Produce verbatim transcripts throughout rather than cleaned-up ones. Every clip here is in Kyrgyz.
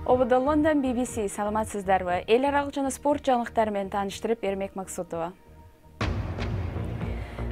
Ободо Лондон би би си саламатсыздарбы? Эл аралык жана спорт жаңылыктары менен тааныштырып Эрмек Максутова.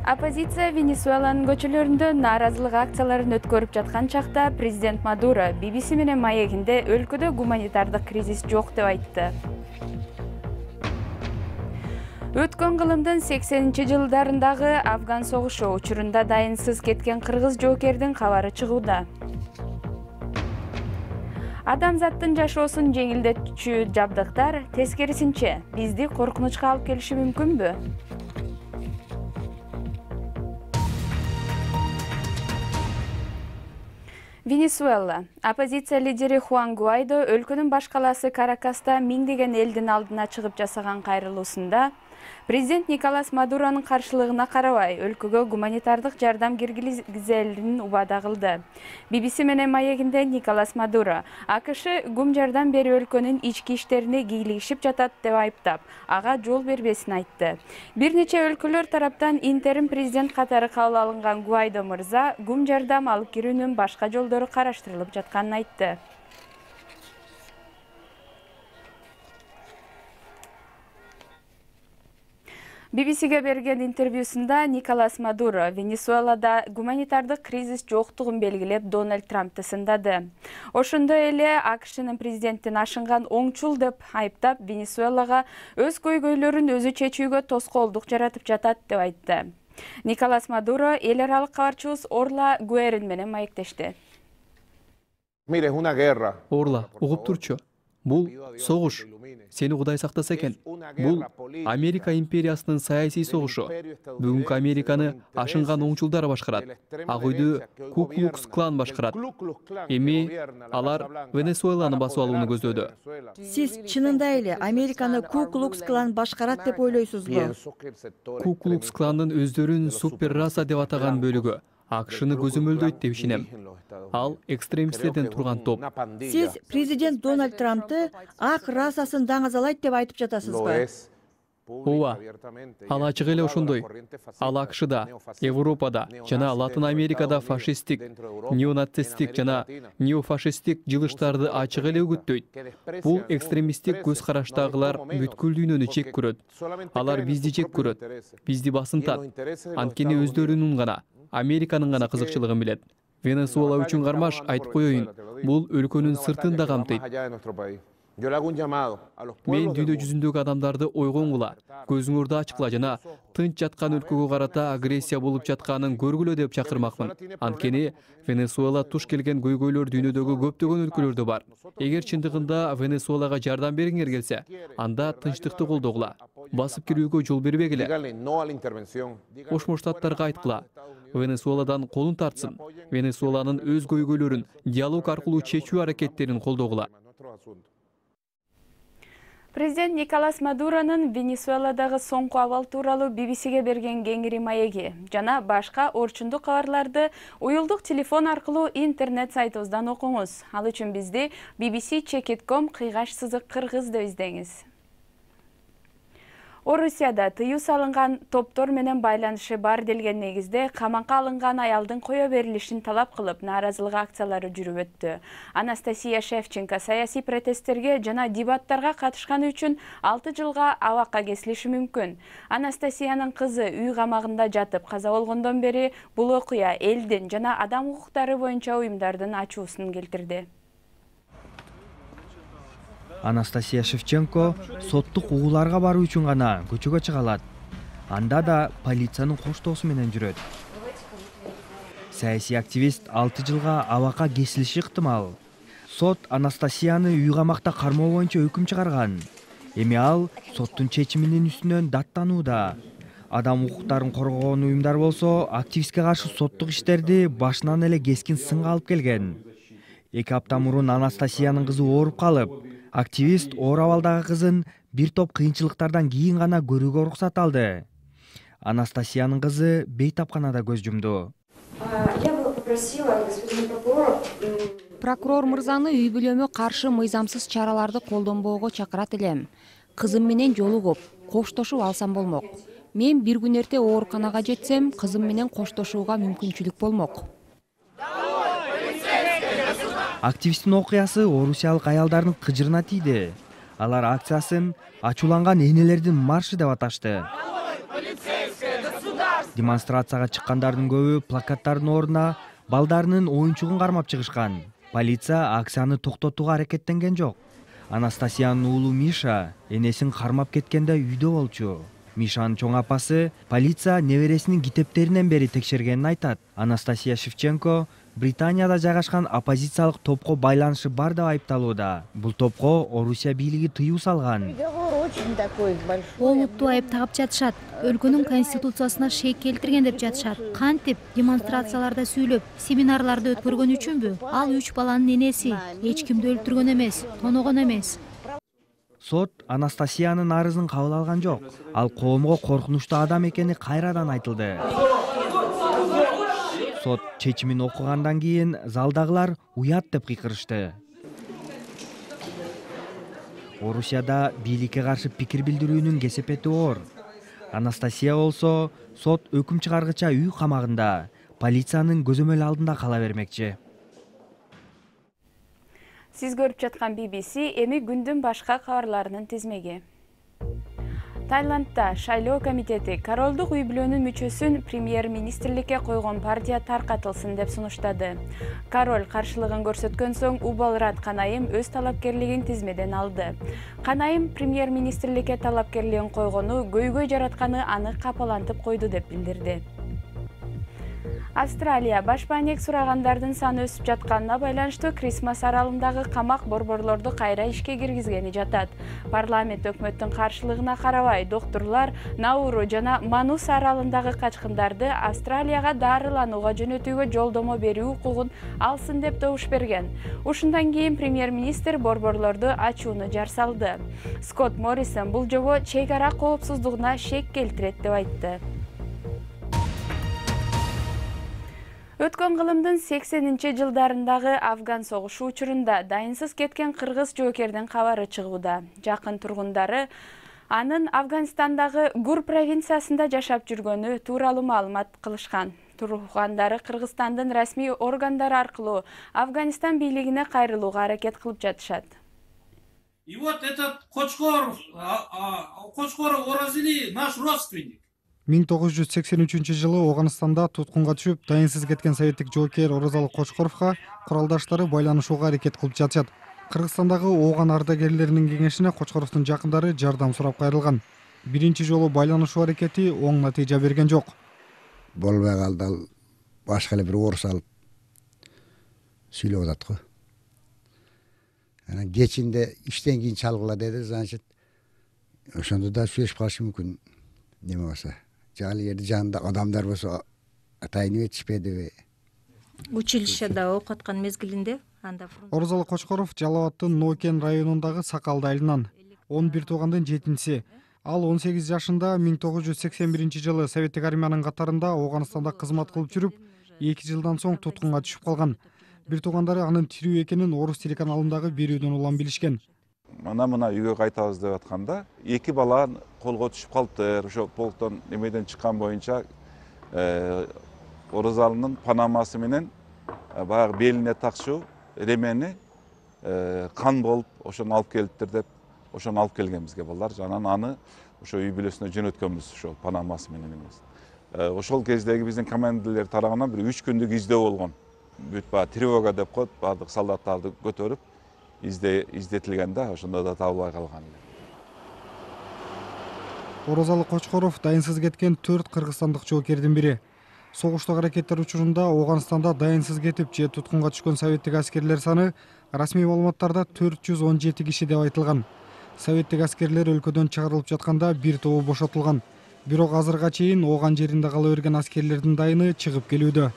Оппозиция Венесуэланын көчөлөрүндө нааразылык акцияларын өткөрүп жаткан чакта президент Мадуро би би си менен маегинде өлкөдө гуманитардык кризис жок деп айтты. Өткөн кылымдын сексенинчи жылдарындагы Афган согушу учурунда дайынсыз кеткен кыргыз жоокердин кабары чыгууда. Адамзаттын жашоосун жеңилдетүүчү жабдыктар тескерисинче бизди коркунучка алып келиши мүмкүнбү? Венесуэла. Оппозиция лидери Хуан Гуайдо өлкөнүн баш калаасы Каракаста миңдеген элдин алдына чыгып жасаган кайрылуусунда президент Николас Мадуронун каршылыгына карабай өлкөгө гуманитардык жардам киргизелин убада кылды. би би си менен маегинде Николас Мадуро А К Ш гум жардам берип өлкөнүн ички иштерине кийлигишип жатат деп айыптап, ага жол бербесин айтты. Бир нече өлкөлөр тараптан интерим президент катары кабыл алынган Гуайдо мырза гум жардам алып кирүүнүн башка жолдору караштырылып жатканын айтты. би би сиге берген интервьюсунда Николас Мадуро Венесуэлада гуманитардык кризис жоктугун белгилеп Дональд Трампты сындады. Ошондой эле А К Шнын президенттин ашынган оңчул деп айыптап, Венесуэлага өз көйгөйлөрүн өзү чечүүгө тоскоолдук жаратып жатат деп айтты. Николас Мадуро эл аралык кабарчыбыз Орла Гуэрин менен маектешти. Орла, угуп турчу. Бул согуш. Сени Кудай сактаса экен. Бул Америка империясынын саясий согушу. Бүгүнкү Американы ашынган оңчулдар башкарат. Ак үйдү Ку Клукс Клан башкарат. Эми алар Венесуэланы басып алууну көздөдү. Сиз чынында эле Американы Ку Клукс Клан башкарат деп ойлойсузбу? Ку Клукс Кландын өздөрүн супер раса деп атаган бөлүгү А К Шны көзөмөлдөйт деп ишенем. Ал экстремисттерден турган топ. Сиз президент Дональд Трампты ак расасын даңазалайт деп айтып жатасызбы? Ооба. Ал ачык эле ошондой. Ал А К Шда, Европада жана Латын Америкада фашисттик, неонацисттик жана неофашисттик жылыштарды ачык эле үгүттөйт. Бул экстремисттик көз караштагылар бүткүл дүйнөнү чек көрөт. Алар бизди чек көрөт, бизди басынтат. Анткени өздөрүнүн гана, Американын гана кызыкчылыгын билет. Венесуэла үчүн кармаш айтып коеюн, бул өлкөнүн сыртын да камтыйт. Мен дүйнө жүзүндөгү адамдарды ойгоңгула, көзүңөрдү ачкыла жана тынч жаткан өлкөгө карата агрессия болуп жатканын көргүлө деп чакырмакмын. Анткени Венесуэла туш келген көйгөйлөр дүйнөдөгү көптөгөн өлкөлөрдө бар. Эгер чындыгында Венесуэлага жардам бергиңер келсе, анда тынчтыкты колдогула, басып кирүүгө жол бербегиле. Кошмо Штаттарга айткыла, Венесуэладан колун тартсын, Венесуэланын өз көйгөйлөрүн диалог аркылуу чечүү аракеттерин колдогула. Президент Николас Мадуронун Венесуэладагы соңку абал тууралуу би би сиге берген кеңири маеги жана башка орчундук кабарларды уюлдук телефон аркылуу интернет сайтыбыздан окуңуз. Ал үчүн бизди би би си чекит точка ком кыйгаш сызык кыргыз деп издеңиз. Орусияда тыюу салынган топтор менен байланышы бар делген негизде камакка алынган аялдын кое берилишин талап кылып нааразылык акциялары жүрүп өттү. Анастасия Шевченко саясий протесттерге жана дебаттарга катышканы үчүн алты жылга абакка кесилиши мүмкүн. Анастасиянын кызы үй камагында жатып каза болгондон бери бул окуя элдин жана адам укуктары боюнча уюмдардын ачуусун келтирди. Анастасия Шевченко соттук угууларга баруу үчүн гана көчөгө чыга алат. Анда да полициянын коштоосу менен жүрөт. Саясий активист алты жылга абакка кесилиши ыктымал. Сот Анастасияны үй камакта кармоо боюнча өкүм чыгарган. Эми ал соттун чечиминин үстүнөн даттанууда. Адам укуктарын коргогон уюмдар болсо активистке каршы соттук иштерди башынан эле кескин сынга алып келген. Эки апта мурун Анастасиянын кызы ооруп калып, активист оор абалдагы кызын бир топ кыйынчылыктардан кийин гана көрүүгө уруксат алды. Анастасиянын кызы бейтапканада көз жумду. Прокурор мырзаны үй бүлөмө каршы мыйзамсыз чараларды колдонбоого чакырат элем. Кызым менен жолугуп, коштошуп алсам болмок. Мен бир күн эрте ооруканага жетсем, кызым менен коштошууга мүмкүнчүлүк болмок. Активисттин окуясы орусиялык аялдардын кыжырына тийди. Алар акциясын ачууланган энелердин маршы деп аташты. Демонстрацияга чыккандардын көбү плакаттардын ордуна балдарынын оюнчугун кармап чыгышкан. Полиция акцияны токтотууга аракеттенген жок. Анастасиянын уулу Миша энесин кармап кеткенде үйдө болчу. Мишанын чоң апасы полиция небересинин китептеринен бери текшергенин айтат. Анастасия Шевченко Британияда жайгашкан оппозициялык топко байланышы бар деп айыпталууда. Бул топко Орусия бийлиги тыюу салган. Олутту айып тагып жатышат. Өлкөнүн конституциясына шек келтирген деп жатышат. Кантип демонстрацияларда сүйлөп, семинарларды өткөргөн үчүнбү? Ал үч баланын энеси. Эч кимди өлтүргөн эмес, тоногон эмес. Сот Анастасиянын арызын кабыл алган жок. Ал коомго коркунучтуу адам экени кайрадан айтылды. Сот чечимин окугандан кийин залдагылар уят деп кыйкырышты. Орусияда бийликке каршы пикир билдирүүнүн кесепети оор. Анастасия болсо сот өкүм чыгаргыча үй камагында, полициянын көзөмөл алдында кала бермекчи. Сиз көрүп жаткан би би си эми күндүн башка кабарларынын тизмеги. Тайландда шайлоо комитети королдук үй бүлөнүн мүчөсүн премьер-министрликке койгон партия таркатылсын деп сунуштады. Король каршылыгын көрсөткөн соң Убалрат Канайым өз талапкерлигин тизмеден алды. Канайым премьер-министрликке талапкерлигин койгону көйгөй жаратканы аны капалантып койду деп билдирди. Австралия башпаанек сурагандардын саны өсүп жатканына байланыштуу Крисмас аралындагы камак борборлорду кайра ишке киргизгени жатат. Парламент өкмөттүн каршылыгына карабай, доктурлар Науру жана Манус аралындагы качкындарды Австралияга дарыланууга жөнөтүүгө жолдомо берүү укугун алсын деп добуш берген. Ушундан кийин премьер-министр борборлорду ачууну жар салды. Скотт Моррисон бул жобо чек ара коопсуздугуна шек келтирет деп айтты. Өткөн кылымдын сексенинчи жылдарындагы Афган согушу учурунда дайынсыз кеткен кыргыз жоокердин кабары чыгууда. Жакын тургундары анын Афганистандагы Гур провинциясында жашап жүргөнү тууралуу маалымат кылышкан. Тургундары Кыргызстандын расмий органдары аркылуу Афганистан бийлигине кайрылууга аракет кылып жатышат. И вот этот Кочкор, Кочкор Оразили наш родственник. миң тогуз жүз сексен үчүнчү жылы Оганстанда туткунга түшүп, дайынсыз кеткен советтик жоокер Оразалы Кочкоровго куралдаштары байланышууга аракет кылып жатышат. Кыргызстандагы Ооган ардагерлеринин кеңешине Кочкоровдун жакындары жардам сурап кайрылган. Биринчи жолу байланышуу аракети оң натыйжа берген жок. Болбой калды, ал башка эле бир орус алып сүйлөп атат го. Анан кечинде иштен кийин чалгыла деди, значит, ошондо да сүйлөшүп калышы мүмкүн. Неме болсо, жал жерде жанында адамдар болсо атайын этишпедиби? Училищеде окуткан мезгилинде анда Оразалы Кочкоров Жалал Абадтын Нокен районундагы Сакалды айылынан он бир туугандын жетинчиси. Ал он сегиз жашында миң тогуз жүз сексен биринчи жылы советтик армиянын катарында Оганстанда кызмат кылып жүрүп, эки жылдан соң туткунга түшүп калган. Бир туугандары анын тирүү экенин орус телеканалындагы берүүдөн улам билишкен. Мына мына үйгө кайтабыз деп атканда, эки бала колго түшүп калыптыр. Ошо полктон немеден чыккан боюнча Оразалынын панамасы менен баягы белине такчу ремени кан болуп, ошону алып келиптир деп, ошону алып келген бизге балдар. Жанан аны ошо үй бүлөсүнө жөнөткөнбүз, ошо панамасы менен эмес. Ошол кездеги биздин командирлер тарабынан бир үч күндүк издөө болгон. Бүт баягы тревога деп коет, баардык солдаттарды көтөрүп изде издетилгенде ошондо да табылбай калган. Оразалы Кочкоров дайынсыз кеткен төрт кыргызстандык жоокердин бири. Согуштук аракеттер учурунда Оганстанда дайынсыз кетип же туткунга түшкөн советтик аскерлер саны расмий маалыматтарда төрт жүз он жети киши деп айтылган. Советтик аскерлер өлкөдөн чыгарылып жатканда бир тобу бошотулган. Бирок азырга чейин Ооган жеринде кала берген аскерлердин дайыны чыгып келүүдө.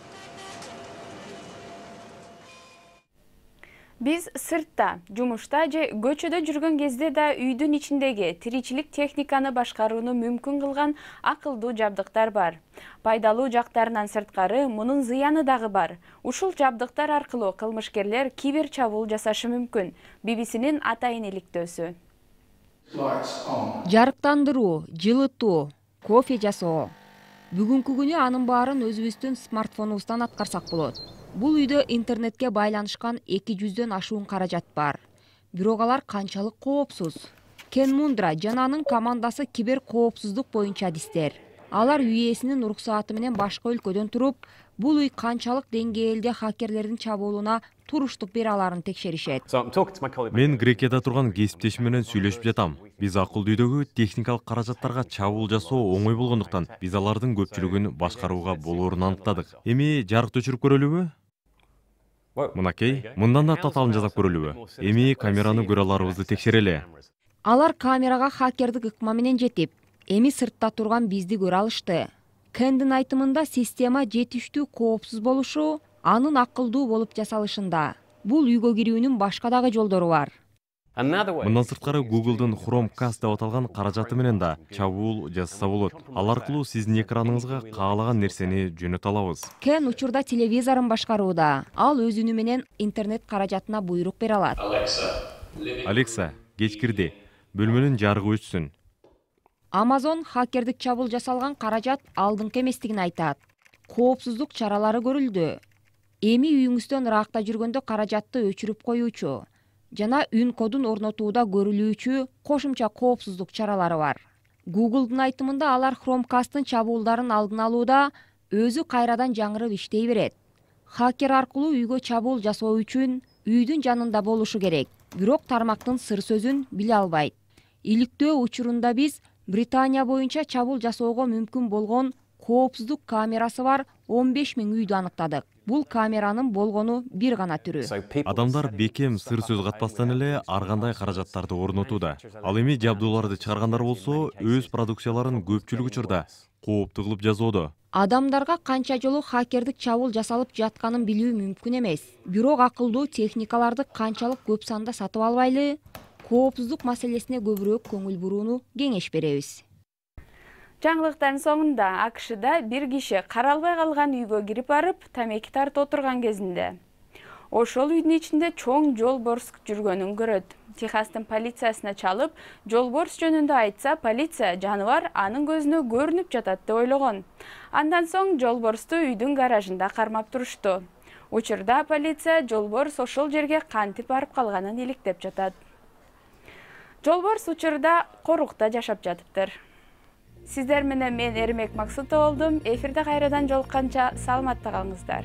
Биз сыртта, жумушта же көчөдө жүргөн кезде да үйдүн ичиндеги тиричилик техниканы башкарууну мүмкүн кылган акылдуу жабдыктар бар. Пайдалуу жактарынан сырткары мунун зыяны дагы бар. Ушул жабдыктар аркылуу кылмышкерлер кибер чабуул жасашы мүмкүн. би би синин атайын иликтөөсү. Жарыктандыруу, жылытуу, кофе жасоо. Бүгүнкү күнү анын баарын өзүбүздүн смартфонубуздан аткарсак болот. Бул үйдө интернетке байланышкан эки жүздөн ашуун каражат бар. Бирок алар канчалык коопсуз? Кен Мундра жана анын командасы кибер коопсуздук боюнча адистер. Алар үй ээсинин уруксааты менен башка өлкөдөн туруп, бул үй канчалык деңгээлде хакерлердин чабуулуна туруштук бере аларын текшеришет. Мен Грекияда турган кесиптешим менен сүйлөшүп жатам. Биз акылдуу үйдөгү техникалык каражаттарга чабуул жасоо оңой болгондуктан биз алардын көпчүлүгүн башкарууга болоорун аныктадык. Эми жарыкты өчүрүп көрөлүбү? Мынакей, мындан да татаалын жасап көрөлүбү? Эми камераны көрө аларыбызды текшерели. Алар камерага хакердик ыкма менен жетип, эми сыртта турган бизди көрө алышты. Кендин айтымында система жетиштүү коопсуз болушу, анын акылдуу болуп жасалышында. Бул үйгө кирүүнүн башка дагы жолдору бар. Мындан сырткары Google'дын Chromecast деп аталган каражаты менен да чабуул жасаса болот. Ал аркылуу сиздин экраныңызга каалаган нерсени жөнөтө алабыз. Кен учурда телевизорун башкарууда. Ал өзүнү менен интернет каражатына буйрук бере алат. Алекса, кеч кирди. Бөлмөнүн жарыгы өчсүн. Amazon хакердик чабуул жасалган каражат алдыңкы эместигин айтат. Коопсуздук чаралары көрүлдү. Эми үйүңүздөн ыракта жүргөндө каражатты өчүрүп коюучу жана үн кодун орнотууда көрүлүүчү кошумча коопсуздук чаралары бар. Google'дун айтымында алар Chromecast'ын чабуулдарын алдын алууда өзү кайрадан жаңырып иштей берет. Хакер аркылуу үйгө чабуул жасоо үчүн үйдүн жанында болушу керек, бирок тармактын сыр сөзүн биле албайт. Иликтөө учурунда биз Британия боюнча чабуул жасоого мүмкүн болгон коопсуздук камерасы бар он беш миң үйдү аныктадык. Бул камеранын болгону бир гана түрү. Адамдар бекем сыр сөз катпастан эле ар кандай каражаттарды орнотууда. Ал эми жабдууларды чыгаргандар болсо, өз продукцияларын көпчүлүк учурда кооптуу кылып жазоодо. Адамдарга канча жолу хакердик чабуул жасалып жатканын билүү мүмкүн эмес. Бирок акылдуу техникаларды канчалык көп санда сатып албайлы, коопсуздук маселесине көбүрөөк көңүл бурууну кеңеш беребиз. Жаңылыктардын соңунда АКШда бир киши каралбай калган үйгө кирип барып, тамеки тартып отурган кезинде ошол үйдүн ичинде чоң жолборс жүргөнүн көрөт. Техастын полициясына чалып, жолборс жөнүндө айтса, полиция жаныбар анын көзүнө көрүнүп жатат деп ойлогон. Андан соң жолборсту үйдүн гаражында кармап турушту. Учурда полиция жолборс ошол жерге кантип барып калганын иликтеп жатат. Жолборс учурда корукта жашап жатыптыр. Сиздер менен мен Эрмек Максутова болдум. Эфирде кайрадан жолукканча саламатта калыңыздар.